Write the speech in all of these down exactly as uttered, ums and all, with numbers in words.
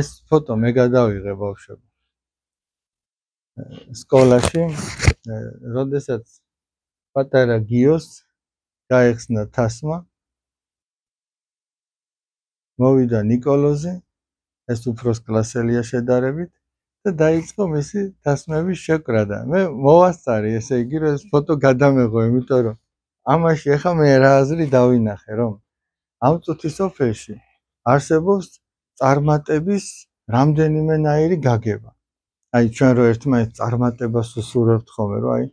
ეს ფოტო მე გადავიღე ბავშვებო. სკოლაში, როდესაც პატარა გიოს გაეხსნა თასმა, მოვიდა ნიკოლოზი, ეს უფროს კლასელია შედარებით და დაიწყო მისი თასმების შეკრა და მე მოვასწარი, ესე იგი, რომ ეს ფოტო გადამეღო, იმიტომ რომ ამაში ახლა მე რა აზრი დავინახე, რომ ამ წუთის სოფელში არსებობს წარმატების რამდენიმენაირი გაგება. აი ჩვენ რო ერთმანეთს წარმატებას უსურვებთ ხოლმე, რომ აი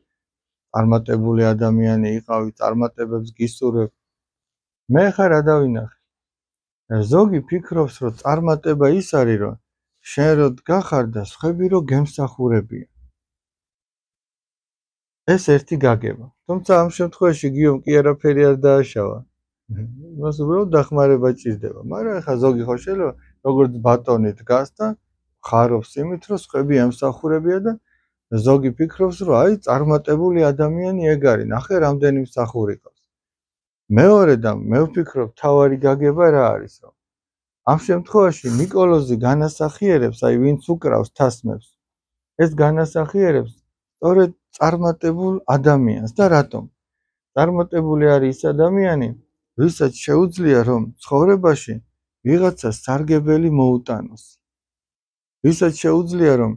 წარმატებული ადამიანი იყავი, წარმატებებს გისურვებ. მე ხა რა დავინახე? ზოგი ფიქრობს, რომ წარმატება ის არის, რომ შენ რო დგახარ და სხვები რო გემსახურებიან. ეს ერთი გაგება. თუმცა ამ შემთხვევაში გიომ კი არაფერი არ დააშავა. მას უბრალოდ დახმარება ჭირდება, მაგრამ ხა ზოგი ხო შეიძლება როგორც ბატონი დგას და ხარობს იმით, რომ სხვები ემსახურებია და ზოგი ფიქრობს, რომ აი წარმატებული ადამიანი ეგ არის, ნახე რამდენი მსახური ყავს. მეორე და მე ვფიქრობ, თავარი გაგება რა არის, რომ ამ შემთხვევაში ნიკოლოზი განასახიერებს, აი ვინც უკრავს თასმებს, ეს განასახიერებს სწორედ წარმატებულ ადამიანს და რატომ? წარმატებული არის ის ადამიანი, ვისაც შეუძლია რომ ცხოვრებაში ვიღაცა სარგებელი მოუტანოს. ვისაც შეუძლია რომ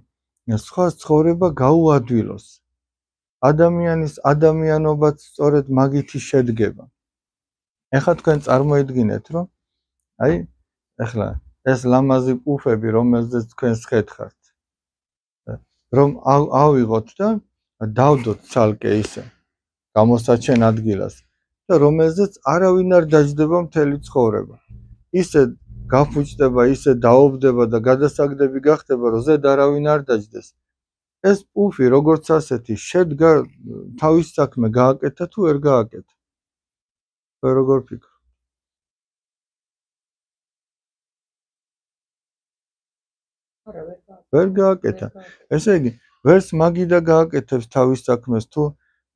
სხვა ცხოვრება გაუადვილოს. ადამიანის ადამიანობაც სწორედ მაგითი შედგება. ეხლა თქვენ წარმოიდგინეთ, რომ აი ეხლა ეს ლამაზი პუფები, რომელზეც თქვენ სხეთხართ, რომ ავიღოთ და დავდოთ ცალკე ისე გამოსაჩენ ადგილას და რომელზეც არავინ არ დაждდება მთელი ცხოვრება. ისე გაფუჭდება, ისე დაობდება და გადასაგდები გახდება, რომ ზედ არავინ არ დაждდეს. ეს პუფი როგორც ასეთი შედგა თავის საქმე გააკეთა თუ ვერ გააკეთა. თქვენ როგორ ფიქრობთ? ვერ გააკეთა. ესე იგი, ვერც მაგიდა გააკეთებს თავის საქმეს თუ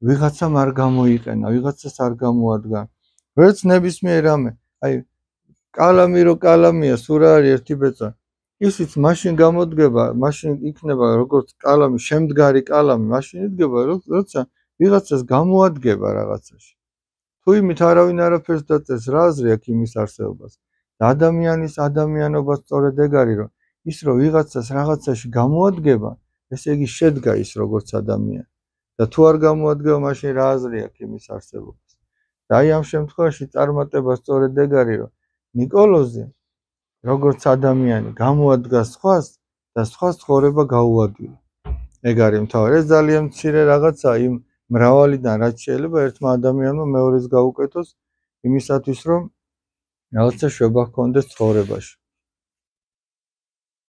ვიღაცამ არ გამოიყენა, ვიღაცას არ გამოადგა. ვერც ნებისმიერ რამე, აი კალამი რო კალამია, სულ რა არის ერთი ბეწვა. ისიც მაშინ გამოდგება, მაშინ იქნება როგორც კალამი, შემდგარი კალამი, მაშინ იდგება, როცა ვიღაცას გამოადგება რაღაცაში. თუ იმით არავინ არაფერს დაწეს, რა აზრი აქვს იმის არსებობას? და ადამიანის ადამიანობა სწორედ ეგ არის, რომ ის რო ვიღაცას რაღაცაში გამოადგება, ესე იგი შედგა ის როგორც ადამიანი. და თუ არ გამოადგება, მაშინ რა აზრი აქვს იმის არსებობას? და აი ამ შემთხვევაში წარმატება სწორედ ეგ არის, რომ ნიკოლოზი როგორც ადამიანი გამოადგა სხვას და სხვას ცხოვრება გაუადვილა. ეგ არის მთავარი. ეს ძალიან მცირე რაღაცაა იმ მრავალიდან, რაც შეიძლება ერთმა ადამიანმა მეორეს გაუკეთოს იმისათვის, რომ რაღაცა შვება ჰქონდეს ცხოვრებაში.